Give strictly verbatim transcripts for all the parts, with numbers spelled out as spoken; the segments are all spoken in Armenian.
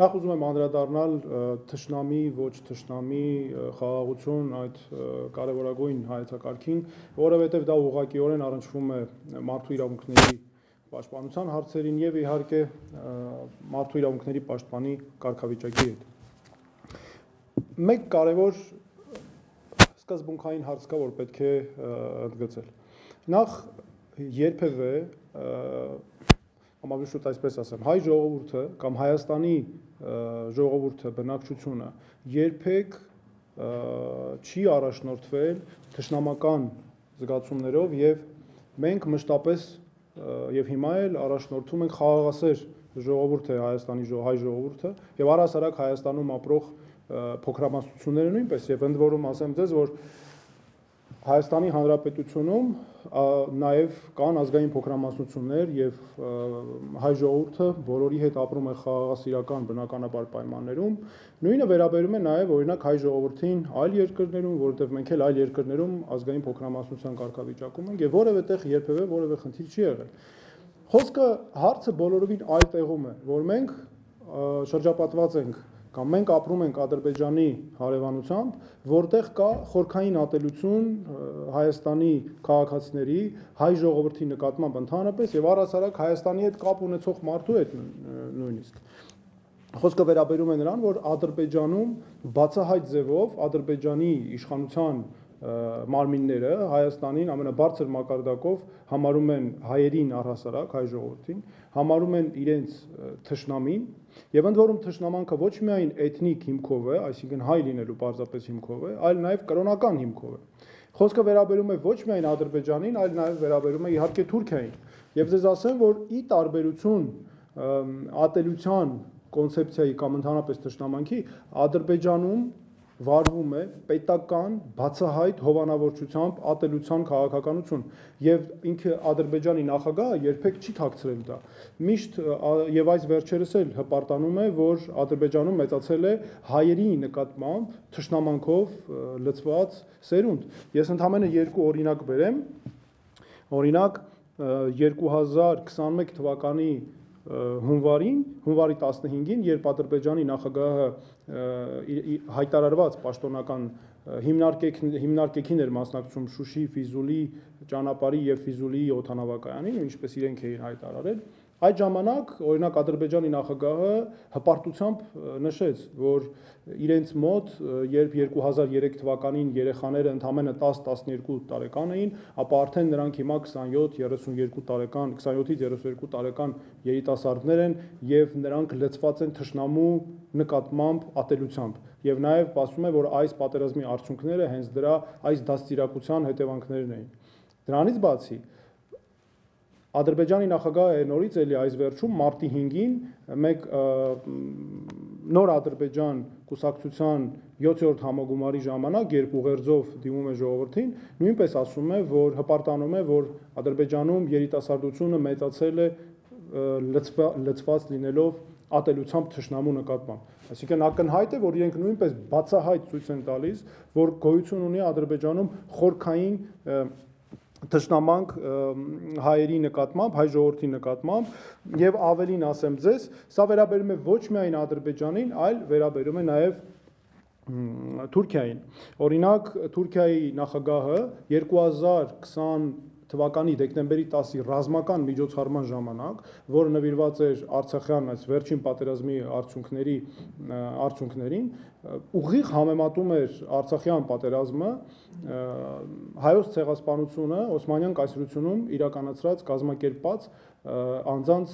Նախ ուզում եմ անդրադառնալ թշնամի, ոչ թշնամի խաղաղություն այդ կարևորագույն հայեցակարգին, որովհետև դա ուղղակիորեն առնչվում է մարդու իրավունքների պաշտպանության հարցերին եւ իհարկե մարդու իրավունքների պաշտպանի կարգավիճակի հետ։ Մեկ կարևոր սկզբունքային հարց կա, որ պետք է ընդգծել։ Նախ երբևէ Ամավի շուտ այսպես ասեմ, հայ ժողովուրդը կամ Հայաստանի ժողովուրդը բնակչությունը երբեք չի առաջնորդվել թշնամական զգացումներով եւ մենք մշտապես եւ հիմա էլ առաջնորդում ենք խաղաղասեր ժողովուրդ է Հայաստանի հայ ժողովուրդը եւ առհասարակ Հայաստանում ապրող փոքրամասնությունները նույնպես եւ ընդ որում ասեմ ձեզ, որ Հայաստանի Հանրապետությունում նաև կան ազգային փոքրամասնություններ եւ հայ ժողովուրդը բոլորի հետ ապրում է խաղաղասիրական բնականաբար պայմաններում, նույնը վերաբերում է նաև օրինակ հայ ժողովրդին այլ երկրներում, որովհետեւ մենք էլ այլ երկրներում ազգային փոքրամասնության կարգավիճակում ենք եւ որևէ տեղ երբևէ որևէ խնդիր չի եղել։ Խոսքը հարցը բոլորովին այլ տեղում է, որ մենք շրջապատված ենք կամ մենք ապրում ենք Ադրբեջանի հարևանությամբ, որտեղ կա խորքային ատելություն Հայաստանի քաղաքացիների, հայ ժողովրդի նկատմամբ ընդհանրապես եւ առհասարակ Հայաստանի հետ կապ ունեցող մարդու հետ նույնիսկ։ Խոսքը վերաբերում է նրան, որ Ադրբեջանում բացահայտ ձևով Ադրբեջանի իշխանության մարմինները Հայաստանին ամենաբարձր մակարդակով համարում են հայերին առհասարակ հայ ժողովրդին, համարում են իրենց թշնամին եւ ընդ որում թշնամանքը ոչ միայն էթնիկ հիմքով է, այսինքն հայ լինելու պարզապես հիմքով է, այլ նաեւ կրոնական հիմքով է։ Խոսքը վերաբերում է ոչ միայն Ադրբեջանին, այլ նաեւ վերաբերում է իհարկե Թուրքիային։ Եվ ձեզ ասեմ, որ ի տարբերություն ատելության կոնցեպցիայի կամ ընդհանրապես թշնամանքի Ադրբեջանում վարվում է պետական բացահայտ հովանավորչությամբ ատելության քաղաքականություն եւ ինքը Ադրբեջանի նախագահը երբեք չի թաքցրել դա։ Միշտ եւ այս վերջերս էլ հպարտանում է, որ Ադրբեջանում մեծացել է հայերի նկատմամբ թշնամանքով լցված սերունդ։ Ես ընդհանրապես երկու օրինակ բերեմ։ Օրինակ երկու հազար քսաներեք թվականի հունվարին, հունվարի տասնհինգին, երբ Ադրբեջանի նախագահը հայտարարված պաշտոնական հիմնարկեքին էր մասնակցում Շուշի Ֆիզուլի ճանապարհի եւ Ֆիզուլի օդանավակայանին, ինչպես իրենք էին հայտարարել, այդ ժամանակ օրինակ Ադրբեջանի նախագահը հպարտությամբ նշեց, որ իրենց մոտ երբ երկու հազար երեք թվականին երեխաները ընդամենը տաս տասնյոթ տարեկան էին, ապա արդեն նրանք հիմա քսանյոթ երեսունյոթ տարեկան, քսանյոթից երեսունյոթ տարեկան երիտասարդներ են եւ նրանք լցված են թշնամու նկատմամբ ատելությամբ եւ նաեւ ասում է, որ այս պատերազմի արդյունքները հենց դրա այս դաստիարակության հետևանքներն էին։ Դրանից բացի Ադրբեջանի նախագահը նորից էլի այս վերջում մարտի հինգին մեկ նոր Ադրբեջան կուսակցության յոթերորդ համագումարի ժամանակ, երբ ուղերձով դիմում է ժողովրդին, նույնպես ասում է, որ հպարտանում է, որ Ադրբեջանում երիտասարդությունը մեծացել է լցված լինելով ատելությամբ թշնամու նկատմամբ։ Այսինքն ակնհայտ է, որ իրենք նույնպես բացահայտ ցույց են տալիս, որ գոյություն ունի Ադրբեջանում խորքային թշնամանք հայերի նկատմամբ, հայ ժողովրդի նկատմամբ եւ ավելին ասեմ ձեզ, սա վերաբերում է ոչ միայն Ադրբեջանին, այլ վերաբերում է նաեւ Թուրքիային։ Օրինակ Թուրքիայի նախագահը երկու հազար քսան թվականի դեկտեմբերի տասի ռազմական միջոցառման ժամանակ, որը նվիրված էր Արցախյան այս վերջին պատերազմի արդյունքների արդյունքներին, ուղիղ համեմատում էր Արցախյան պատերազմը հայոց ցեղասպանությունը Օսմանյան կայսրությունում իրականացրած կազմակերպած անձանց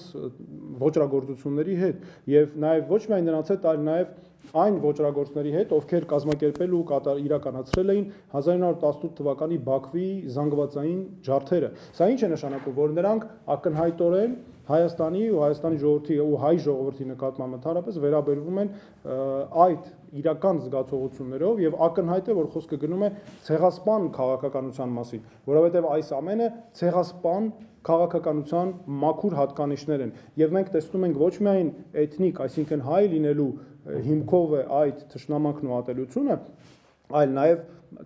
ոճրագործությունների հետ եւ նաեւ ոչ միայն նրանց հետ, այլ նաեւ այն ոճրագործների հետ, ովքեր կազմակերպել ու իրականացրել էին հազար ինը հարյուր տասնութ թվականի Բաքվի զանգվածային ջարդերը։ Սա ինչ է նշանակում, որ նրանք ակնհայտորեն Հայաստանի ու Հայաստանի ժողովրդի ու հայ ժողովրդի նկատմամբ ընդհանրապես վերաբերվում են այդ իրական զգացողություններով եւ ակնհայտ է, որ խոսքը գնում է ցեղասպան քաղաքականության մասին, որովհետեւ այս ամենը ցեղասպան քաղաքականության մաքուր հատկանիշներ են եւ մենք տեսնում ենք ոչ միայն էթնիկ, այսինքն հայ լինելու հիմքով է այդ թշնամանքն ու ատելությունը, այլ նաեւ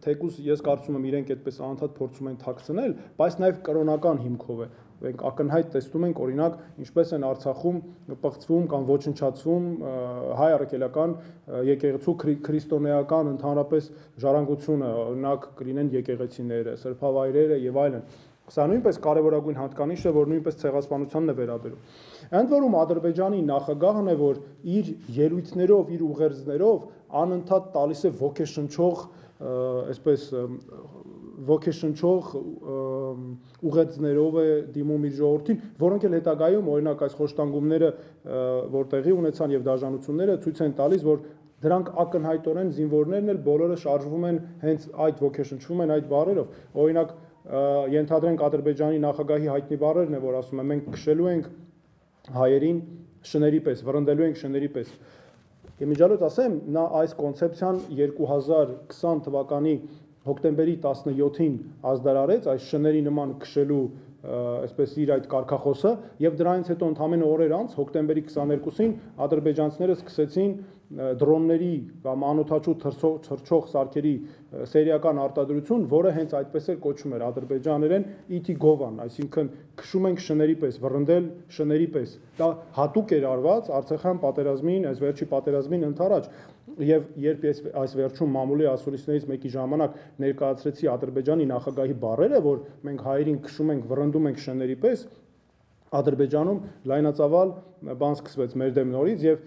թեկուզ ես կարծում եմ իրենք այդպես անընդհատ փորձում են թաքցնել, բայց նաեւ կրոնական հիմքով է։ մենք ակնհայտ տեսնում ենք օրինակ ինչպես են Արցախում պղծվում կամ ոչնչացվում հայ առաքելական եկեղեցու քրիստոնեական ընդհանրապես ժառանգությունը, օրինակ կլինեն եկեղեցիները, սրբավայրերը եւ այլն։ Սա նույնպես կարևորագույն հատկանիշ է, որ նույնպես ցեղասպանությանն է վերաբերում։ Ընդ որում Ադրբեջանի նախագահն է, որ իր ելույթներով, իր ուղերձներով անընդհատ տալիս է ոգեշնչող, այսպես ոգեշնչող ուղերձներով է դիմում իր ժողովրդին, որոնք էլ հետագայում օրինակ այս խոշտանգումները, որ տեղի ունեցան եւ դաշնությունները ցույց են տալիս, որ դրանք ակնհայտորեն զինվորներն էլ բոլորը շարժվում են հենց այդ ոգեշնչվում են այդ բառերով։ Օրինակ ենթադրենք Ադրբեջանի նախագահի հայտնի բառերն է, որ ասում է մենք քշելու ենք հայերին շների պես, վռնդելու ենք շների պես։ Իմիջիալոց ասեմ, նա այս կոնցեպցիան երկու հազար քսան թվականի հոկտեմբերի տասնյոթին ազդարարեց այս շների նման քշելու այսպես իր այդ կարգախոսը եւ դրանից հետո ընդամենը օրեր անց հոկտեմբերի քսաներկուսին ադրբեջանցիները սկսեցին դրոնների կամ անօթաչու թռչող սարքերի սերիական արտադրություն, որը հենց այդպես էլ կոչվում էր ադրբեջաներեն իթի գովան, այսինքն քշում ենք շների պես, վռնդել շների պես։ Դա հատուկ էր արված Արցախյան պատերազմին, այս վերջի պատերազմին ընդառաջ, եւ երբ ես այս վերջում մամուլի ասուլիսներից մեկի ժամանակ ներկայացրեցի Ադրբեջանի նախագահի բառերը, որ մենք հայերին քշում ենք, վռնդում ենք շների պես, Ադրբեջանում լայնածավալ բան սկսվեց մեր դեմ նորից եւ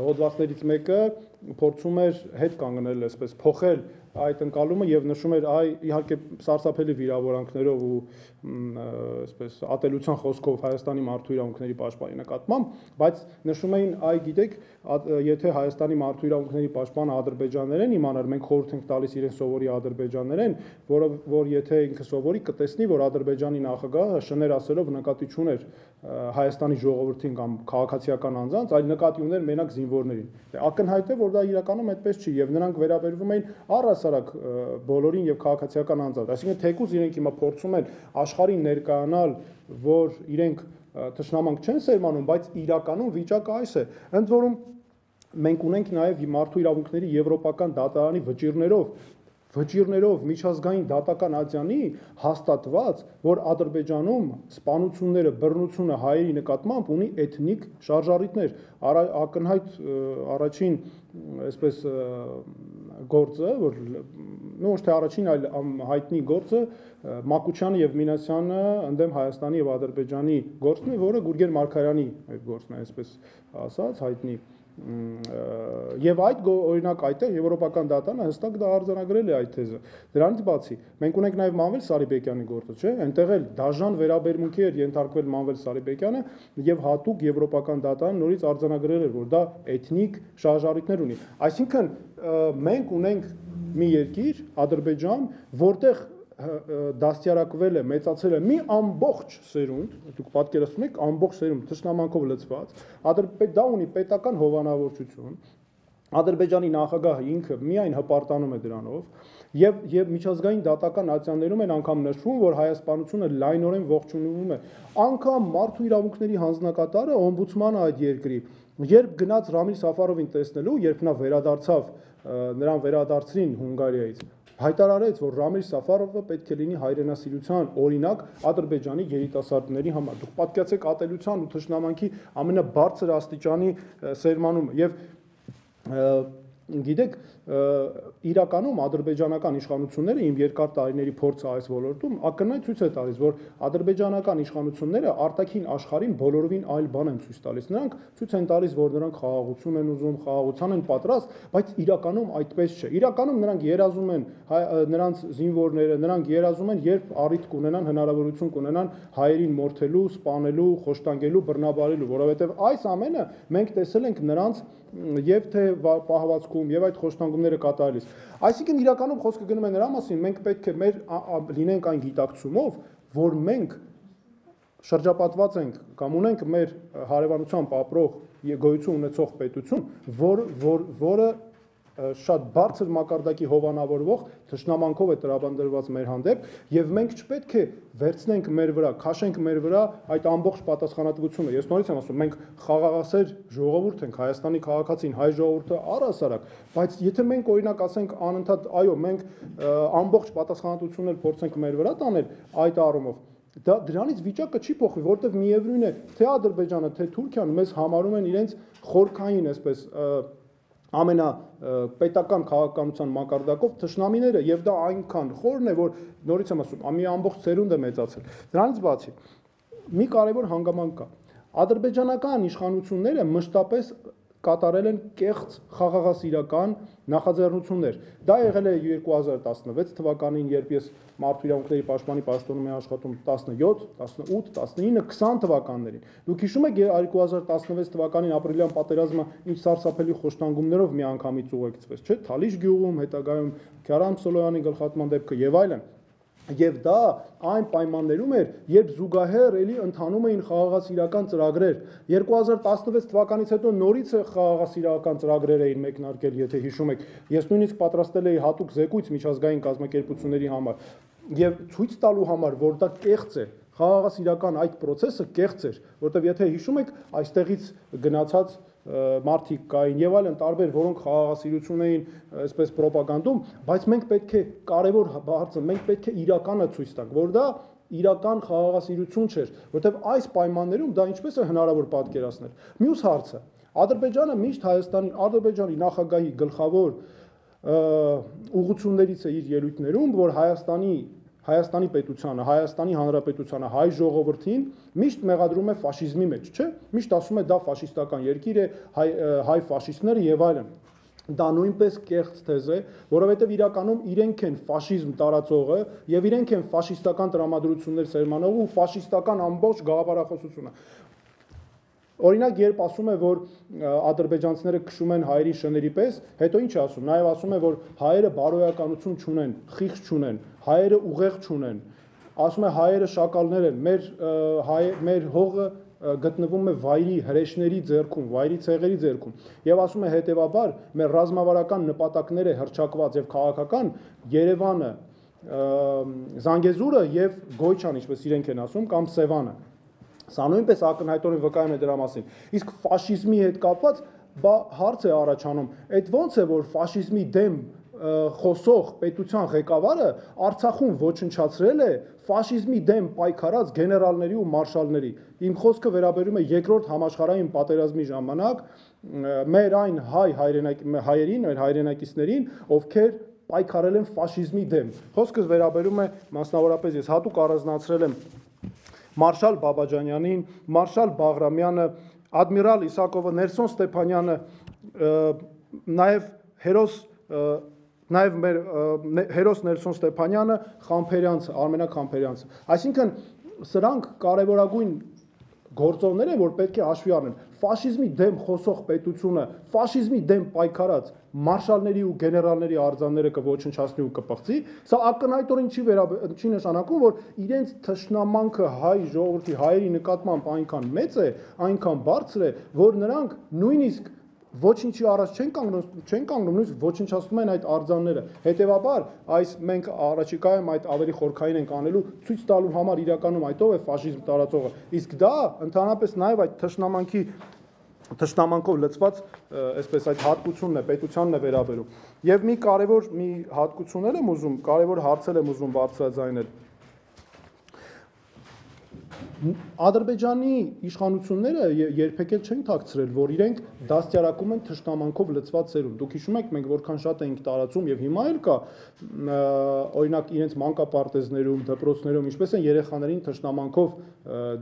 հոդվածներից մեկը փորձում էր հետ կանգնել, այսպես փոխել այդ ընկալումը եւ նշում էր այ իհարկե սարսափելի վիրավորանքներով ու այսպես ատելության խոսքով Հայաստանի մարդու իրավունքների պաշտպանի նկատմամբ, բայց նշում էին այ գիտեք, եթե Հայաստանի մարդու իրավունքների պաշտպանը ադրբեջաներեն իմանար, մենք խորհուրդ ենք տալիս իրեն սովորի ադրբեջաներեն, որը որ եթե ինքը սովորի կտեսնի, որ Ադրբեջանի նախագահը շներ ասելով նկատի չուներ Հայաստանի ժողովրդին կամ քաղաքացիական անձանց, այլ նկատի ուներ մենակ զինվորներին։ Ակնհայտ է, որ դա իրականում այդպես չի եւ նրանք վերաբերվում էին առհասարակ բոլորին եւ քաղաքացիական անձանց։ Այսինքն թեկուզ իրենք հիմա փորձում են աշխարհին ներկայանալ, որ իրենք թշնամանք չեն սերմանում, բայց իրականում վիճակը այս է։ Ընդ որում մենք ունենք նաեւ մարդու իրավունքների եվրոպական դատարանի վճիռներով վճիռներով միջազգային դատական ատյանի հաստատված, որ Ադրբեջանում սպանությունները, բռնությունը հայերի նկատմամբ ունի էթնիկ շարժառիթներ։ Ակնհայտ առաջին այսպես գործը, որ ոչ թե առաջին, այլ հայտնի գործը Մակուչյանը եւ Մինասյանը ընդդեմ Հայաստանի եւ Ադրբեջանի գործն է, որը Գուրգեն Մարգարյանի այդ գործն է, այսպես ասած, հայտնի Եվ այդ օրինակ այդտեղ եվրոպական դատանը հստակ դա արձանագրել է այդ թեզը։ Դրանից բացի մենք ունենք նաև Մանվել Սարիբեկյանի գործը, չէ՞, այնտեղ էլ դաժան վերաբերմունքի էր ենթարկվել Մանվել Սարիբեկյանը եւ հատուկ եվրոպական դատան նորից արձանագրել էր, որ դա էթնիկ շարժառիթներ ունի։ Այսինքն մենք ունենք մի երկիր, Ադրբեջան, որտեղ դաստիարակվել է, մեծացել է մի ամբողջ սերունդ, դուք պատկերացնում եք ամբողջ սերունդ թշնամանքով լցված, դա ունի պետական հովանավորչություն, Ադրբեջանի նախագահը ինքը միայն հպարտանում է դրանով, եւ եւ միջազգային դատական ատյաններում են անգամ նշվում, որ հայասպանությունը լայնորեն ողջունվում է, անգամ մարդու իրավունքների հանձնակատարը օմբուդսմանը այդ երկրի, երբ գնաց Ռամիլ Սաֆարովին տեսնելու, երբ նա վերադարձավ, նրան վերադարձրին Հունգարիայից, հայտարարեց, որ Ռամիլ Սաֆարովը պետք է լինի հայրենասիրության օրինակ Ադրբեջանի երիտասարդների համար։ Դուք պատկերացեք ատելության ու թշնամանքի ամենաբարձր աստիճանի սերմանումը եւ գիտեք, իրականում ադրբեջանական իշխանությունները իմ երկար տարիների փորձը այս ոլորտում ակնհայտ ցույց է տալիս, որ ադրբեջանական իշխանությունները արտաքին աշխարհին բոլորովին այլ բան են ցույց տալիս։ Նրանք ցույց են տալիս, որ նրանք խաղաղություն են ուզում, խաղաղության են պատրաստ, բայց իրականում այդպես չէ։ Իրականում նրանք երազում են, նրանց զինվորները, նրանք երազում են, երբ առիթ կունենան, հնարավորություն կունենան հայերին մորթելու, սպանելու, խոշտանգելու, բռնաբարելու, որովհետև այս ամենը մենք տեսել ենք նրանց եւ թե պահվածքում եւ այդ խոշտանգումները կատարելիս։ Այսինքն իրականում խոսքը գնում է նրա մասին, մենք պետք է մեր լինենք այն գիտակցումով, որ մենք շրջապատված ենք կամ ունենք մեր հարևանությամբ ապրող գոյություն ունեցող պետություն, որ որ որը շատ բարձր մակարդակի հովանավորվող թշնամանքով է տրամադրված մեր հանդեպ եւ մենք չպետք է վերցնենք մեր վրա, քաշենք մեր վրա այդ ամբողջ պատասխանատվությունը։ Ես նորից եմ ասում, մենք խաղաղասեր ժողովուրդ ենք, Հայաստանի քաղաքացին, հայ ժողովուրդը առհասարակ, բայց եթե մենք օրինակ ասենք անընդհատ, այո, մենք ամբողջ պատասխանատվությունն էլ փորձենք մեր վրա տանել այդ առումով, դա դրանից վիճակը չի փոխվի, որտեղ միևնույն է, թե Ադրբեջանը, թե Թուրքիան մեզ համարում են իրենց խորքային, այսպես ամենա պետական քաղաքականության մակարդակով թշնամիները, եւ դա այնքան խորն է, որ նորից եմ ասում, մի ամբողջ ծերունդ է մեծացել։ Դրանից բացի մի կարևոր հանգամանք կա։ Ադրբեջանական իշխանությունները մշտապես կատարել են կեղծ խաղաղասիրական նախաձեռնություններ։ Դա եղել է երկու հազար տասնվեց թվականին, երբ ես Մարդու իրավունքների պաշտպանի պաշտոնում եմ աշխատում տասնյոթ, տասնութ, տասնինը, քսան թվականներին։ Դուք հիշում եք երկու հազար տասնվեց թվականին ապրիլյան պատերազմը ինչ սարսափելի խոշտանգումներով միանգամից ուղեկցվեց, չէ՞, Թալիշ գյուղում, հետագայում Քյարամ Սոլոյանի գլխատման դեպքը եւ այլն։ Եվ դա այն պայմաններում էր, երբ զուգահեռ էլի ընթանում էին խաղաղասիրական ծրագրեր։ երկու հազար տասնվեց թվականից հետո նորից խաղաղասիրական ծրագրեր էին մեկնարկել, եթե հիշում եք։ Ես նույնիսկ պատրաստել էի հատուկ զեկույց միջազգային կազմակերպությունների համար եւ ցույց տալու համար, որ դա կեղծ է։ Խաղաղասիրական այդ process-ը կեղծ էր, որտեղ եթե հիշում եք, այստեղից գնացած մարդիկ կային եւ այլն տարբեր, որոնք խաղաղասիրություն էին այսպես ռոպագանդում, բայց մենք պետք է կարևոր հարցը, մենք պետք է իրականը ցույց տանք, որ դա իրական խաղաղասիրություն չէր, որտեղ այս պայմաններում դա ինչպես է հնարավոր պատկերացնել։ Մյուս հարցը, Ադրբեջանը միշտ Հայաստանի, Ադրբեջանի նախագահի գլխավոր ուղղություններից է իր ելույթներում, որ Հայաստանի Հայաստանի պետությանը, Հայաստանի Հանրապետությանը, հայ ժողովրդին միշտ մեղադրում է ֆաշիզմի մեջ, չէ՞։ Միշտ ասում է դա ֆաշիստական երկիր է, հայ, հայ ֆաշիստները եւ այլն։ Դա նույնպես կեղծ թեզ է, որովհետեւ իրականում իրենք են ֆաշիզմ տարածողը եւ իրենք են ֆաշիստական տրամադրություններ սերմանող ու ֆաշիստական ամբողջ գաղափարախոսությունը։ Օրինակ, երբ ասում է, որ ադրբեջանցիները քշում են հայերի շների պես, հետո ինչ է ասում, նաև ասում է, որ հայերը բարոյականություն չունեն, խիղճ չունեն, հայերը ուղեղ չունեն, ասում է հայերը շակալներ են, մեր մեր հողը գտնվում է վայրի հրեշների ձեռքում, վայրի ցեղերի ձեռքում, եւ ասում է հետեւաբար մեր ռազմավարական նպատակները հռչակված եւ քաղաքական Երևանը, Զանգեզուրը եւ Գոյչան, ինչպես իրենք են ասում, կամ Սևանը։ Սա նույնպես ակնհայտորեն վկայում է դրա մասին։ Իսկ ֆաշիզմի հետ կապված բա հարց է առաջանում, այդ ո՞նց է, որ ֆաշիզմի դեմ խոսող պետության ղեկավարը Արցախում ոչնչացրել է ֆաշիզմի դեմ պայքարած գեներալների ու մարշալների։ Իմ խոսքը վերաբերում է երկրորդ համաշխարհային պատերազմի ժամանակ մեր այն հայ հայերին, մեր հայրենակիցներին, ովքեր պայքարել են ֆաշիզմի դեմ։ Խոսքս վերաբերում է մասնավորապես ես հատուկ առանձնացրել եմ Մարշալ Բաբաջանյանին, Մարշալ Բաղրամյանը, Ադմիրալ Իսակովը, Ներսոն Ստեփանյանը, նաև հերոս նաև մեր հերոս Ներսոն Ստեփանյանը, Խամփերյանցը, Արմենակ Խամփերյանցը։ Այսինքն սրանք կարևորագույն գործոններ են, որ պետք է հաշվի առնեն։ Ֆաշիզմի դեմ խոսող պետությունը, ֆաշիզմի դեմ պայքարած մարշալների ու գեներալների արձանները կոչնչացնի ու կպղծի, սա ակնհայտորեն չի չի նշանակում, որ իրենց թշնամանքը հայ ժողովրդի հայերի նկատմամբ այնքան մեծ է, այնքան բարձր է, որ նրանք նույնիսկ ոչինչի առաջ չեն կանգնում, չեն կանգնում, նույնիսկ ոչնչացնում են այդ արձանները։ Հետևաբար, այս մենք առաջիկայում այդ ավելի խորքային ենք անելու, ցույց տալու համար իրականում այդով է ֆաշիզմ տարածողը։ Իսկ դա ընդհանրապես նաև այդ թշնամանքի թշնամանքով լցված այսպես այդ հատկությունն է, պետությանն է վերաբերում։ Եվ մի կարևոր մի հատկություններ եմ ուզում, կարևոր հարցեր եմ ուզում բարձրաձայնել։ Ադրբեջանի իշխանությունները երբեք էլ չեն թաքցրել, որ իրենք դաստիարակում են թշնամանքով լցված ծերունդ։ Դուք հիշում եք, մենք որքան շատ էինք տարածում եւ հիմա էլ կա, օրինակ իրենց մանկապարտեզներում, դպրոցներում, ինչպես են երեխաներին թշնամանքով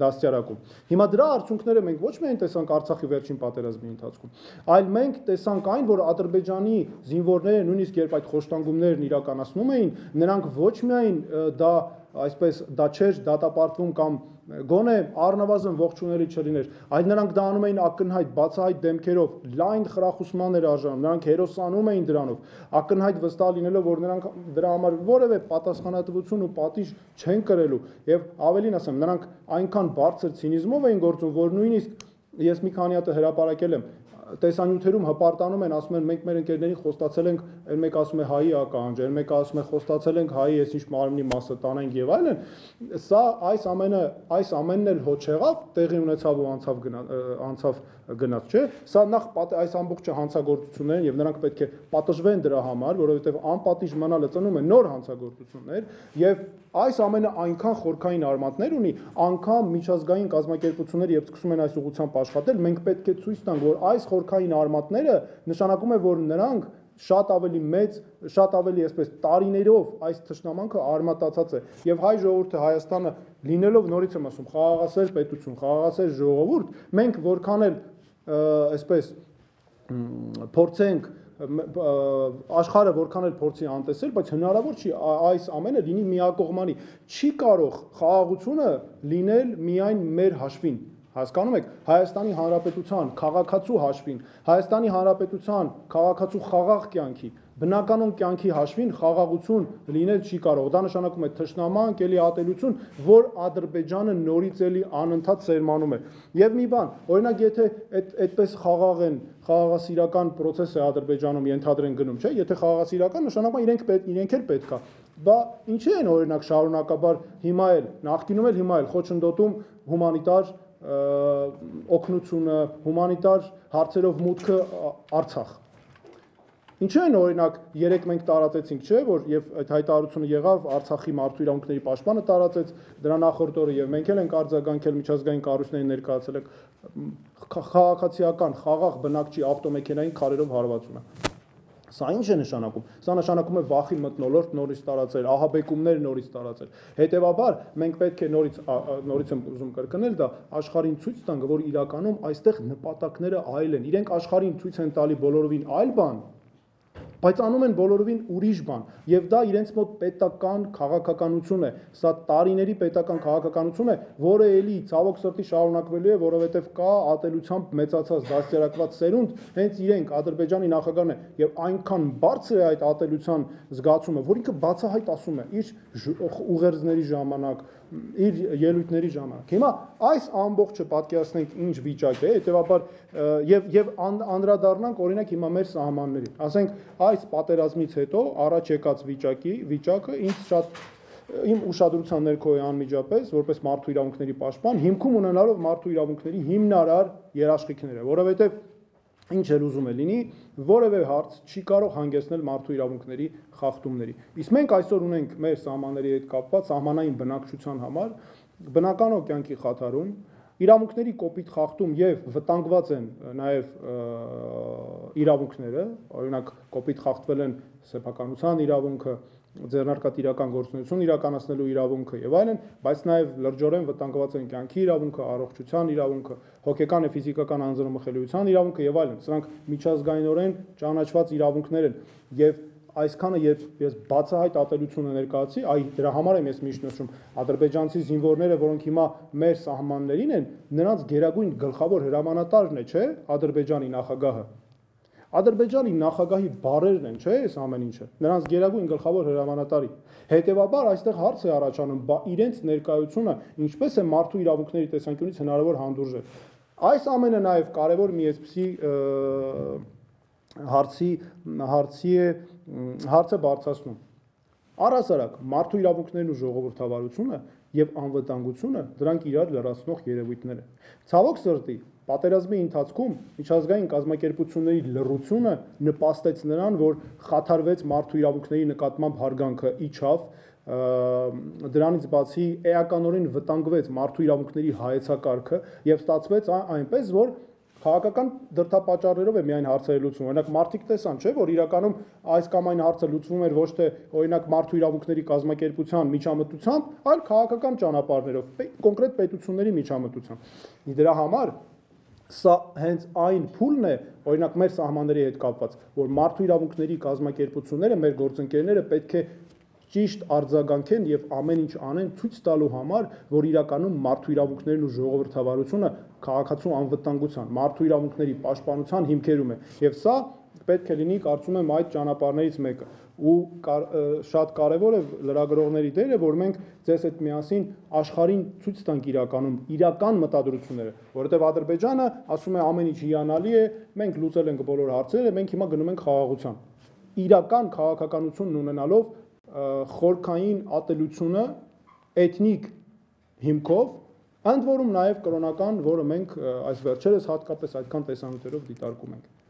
դաստիարակում։ Հիմա դրա արդյունքները մենք ոչ միայն տեսանք Արցախի վերջին պատերազմի ընթացքում, այլ մենք տեսանք այն, որ Ադրբեջանի զինվորները նույնիսկ երբ այդ խոշտանգումներն իրականացնում էին, նրանք ոչ միայն դա այսպես դա չէր դատապարտվում կամ գոնե առնվազն ողջունելի չլիներ, այլ նրանք դա անում էին ակնհայտ բացահայտ դեմքերով, լայն խրախուսման էր արժանում, նրանք հերոսանում էին դրանով, ակնհայտ վստահ լինելով, որ նրանք դրա համար որևէ պատասխանատվություն ու պատիժ չեն կրելու, եւ ավելին ասեմ, նրանք այնքան բարձր ցինիզմով էին գործում, որ նույնիսկ ես մի քանի հատ հրապարակել եմ, տեսանյութերում հպարտանում են, ասում են մենք մեր ընկերներին խոստացել ենք, այն մեկ ասում է հայի ականջ, այն մեկ ասում է խոստացել ենք հայի այսինչ մարմնի մասը տանենք եւ այլն, սա այս ամենը, այս ամենն էլ հո չեղավ, տեղի ունեցավ ու անցավ անցավ գնաց, չէ՞։ Սա նախ այս ամբողջը հանցագործություններ եւ նրանք պետք է պատժվեն դրա համար, որովհետեւ անպատիժ մնալը ծնում է նոր հանցագործություններ եւ այս ամենը այնքան խորքային արմատներ ունի, անգամ միջազգային կազմակերպությունները եւ սկսում են այս ուղղությամբ աշխատել, մենք պետք է ցույց տանք, որ այս խորքային արմատները նշանակում է, որ նրանք շատ ավելի մեծ, շատ ավելի այսպես տարիներով այս թշնամանքը արմատացած է եւ հայ ժողովուրդը Հայաստանը լինելով նորից եմ ասում խաղաղասեր պետություն, խաղաղասեր ժողովուրդ, մենք որքան էլ այսպես փորձենք աշխարհը որքան էլ փորձի անտեսել, բայց հնարավոր չի այս ամենը լինի միակողմանի, չի կարող խաղաղությունը լինել միայն մեր հաշվին։ Հասկանում եք, Հայաստանի Հանրապետության քաղաքացու հաշվին, Հայաստանի Հանրապետության քաղաքացու խաղաղ կյանքի, բնականon կյանքի հաշվին խաղաղություն լինել չի կարող։ Դա նշանակում է թշնամանք, էլի ատելություն, որ Ադրբեջանը նորից էլի անընդհատ սերմանում է։ Եվ մի բան, օրինակ, եթե այդպես խաղաղ են, խաղաղասիրական process է Ադրբեջանում ենթադրեն գնում, չէ՞, եթե խաղաղասիրական նշանակում է իրենք պետք, իրենք էլ պետք է։ Բա ինչի են օրինակ շարունակաբար հիմա էլ, նախկինում էլ հիմա էլ խոչընդոտում հումանիտար օգնությունը, հումանիտար հարցերով մուտքը Արցախ։ Ինչու են օրինակ երեք մենք տարածեցինք, չէ, որ եւ այդ հայտարարությունը եղավ Արցախի մարդու իրավունքների պաշտպանը տարածեց, դրա նախորդ օրը եւ մենք էլ ենք արձագանքել միջազգային կառույցներին ներկայացել եք քաղաքացիական խաղաղ բնակչի ավտոմեքենային քարերով հարվածումը։ Սա ինչ է նշանակում։ Սա նշանակում է վախի մթնոլորտ նորից տարածել, ահաբեկումներ նորից տարածել։ Հետևաբար մենք պետք է նորից նորից եմ ուզում կրկնել դա աշխարհին ցույց տանք, որ իրականում այստեղ նպատակները այլ են։ Իրենք աշխարհին ցույց են տալի բոլորովին այլ բան, բայց անում են բոլորովին ուրիշ բան եւ դա իրենց մոտ պետական քաղաքականություն է, սա տարիների պետական քաղաքականություն է, որը էլի ցավոք սրտի շարունակվելու է, որովհետեւ կա ատելությամբ մեծացած դաստիարակված սերունդ, հենց իրենք Ադրբեջանի նախագահն է եւ այնքան բարձր է այդ ատելության զգացումը, որ ինքը բացահայտ ասում է իր ուղերձների ժամանակ, իր ելույթների ժամանակ։ Հիմա այս ամբողջը պատկերացնենք ինչ վիճակ է, հետեւաբար եւ եւ անդրադառնանք օրինակ հիմա մեր սահմաններին։ Ասենք այս պատերազմից հետո առաջ եկած վիճակի վիճակը ինձ շատ իմ ուշադրության ներքո է անմիջապես, որպես մարդու իրավունքների պաշտպան, հիմքում ունենալով մարդու իրավունքների հիմնարար երաշխիքները, որովհետեւ ինչ էլ ուզում է լինի, որևէ հարց չի կարող հանգեցնել մարդու իրավունքների խախտումների։ Իսկ մենք այսօր ունենք մեր սահմանների հետ կապված սահմանային բնակչության համար բնական կյանքի խաթարում, իրավունքների կոպիտ խախտում եւ վտանգված են նաեւ իրավունքները, օրինակ կոպիտ խախտվել են սեփականության իրավունքը, ձեռնարկատիրական գործունեություն իրականացնելու իրավունքը եւ այլն, բայց նաեւ լրջորեն վտանգված են կյանքի իրավունքը, առողջության իրավունքը, հոգեկան եւ ֆիզիկական անձնամխելիության իրավունքը եւ այլն։ Սրանք միջազգայինորեն ճանաչված իրավունքներ են եւ այսքանը երբ ես բացահայտ ատելությունը ներկայացի, այ դրա համար եմ ես միշտ նշում, ադրբեջանցի զինվորները, որոնք հիմա մեր սահմաններին են, նրանց գերագույն գլխավոր հրամանատարն է, չէ՞, Ադրբեջանի նախագահը։ Ադրբեջանի նախագահի բարերն են, չէ՞, այս ամեն ինչը։ Նրանց գերագույն գլխավոր հրամանատարի։ Հետևաբար այստեղ հարց է առաջանում, բա իրենց ներկայությունը ինչպես է մարդու իրավունքների տեսանկյունից հնարավոր հանդուրժել։ Այս ամենը նաև կարևոր մի այսպիսի հարցի հարցի է հարցը բարձրացնում։ Առհասարակ մարդու իրավունքներն ու ժողովրդավարությունը եւ անվտանգությունը դրանք իրար լրացնող երևույթներ են։ Ցավոք սրտի պատերազմի ընթացքում միջազգային կազմակերպությունների լռությունը նպաստեց նրան, որ խաթարվեց մարդու իրավունքների նկատմամբ հարգանքը իջավ, դրանից բացի էականորեն վտանգվեց մարդու իրավունքների հայեցակարգը եւ ստացվեց այնպես, որ քաղաքական դրդապատճառներով է միայն հարցերը լուծվում։ Օրինակ մարդիկ տեսան, չէ՞, որ իրականում այս կամ այն հարցը լուծվում էր ոչ թե օրինակ մարդու իրավունքների կազմակերպության միջամտությամբ, այլ քաղաքական ճանապարհներով, կոնկրետ պետությունների միջամտությամբ։ Դրա համար սա հենց այն փուլն է, օրինակ մեր սահմանների հետ կապված, որ մարդու իրավունքների կազմակերպությունները, մեր գործընկերները պետք է ճիշտ արձագանքեն եւ ամեն ինչ անեն ցույց տալու համար, որ իրականում մարդու իրավունքներն ու ժողովրդավարությունը քաղաքացու անվտանգության, մարդու իրավունքների պաշտպանության հիմքերում է։ Եվ սա պետք է լինի, կարծում եմ, այդ ճանապարհներից մեկը։ Ու կար, շատ կարևոր է լրագրողների դերը, որ մենք ձեզ հետ միասին աշխարհին ցույց տանք իրականում իրական մտադրությունները, որովհետև Ադրբեջանը ասում է ամեն ինչ հիանալի է, մենք լուծել ենք բոլոր հարցերը, մենք հիմա գնում ենք խաղաղության։ Իրական քաղաքականությունն ունենալով խորքային ատելությունը էթնիկ հիմքով, ընդ որում նաև կրոնական, որը մենք այս վերջերս հատկապես այդքան տեսանյութերով դիտարկում ենք։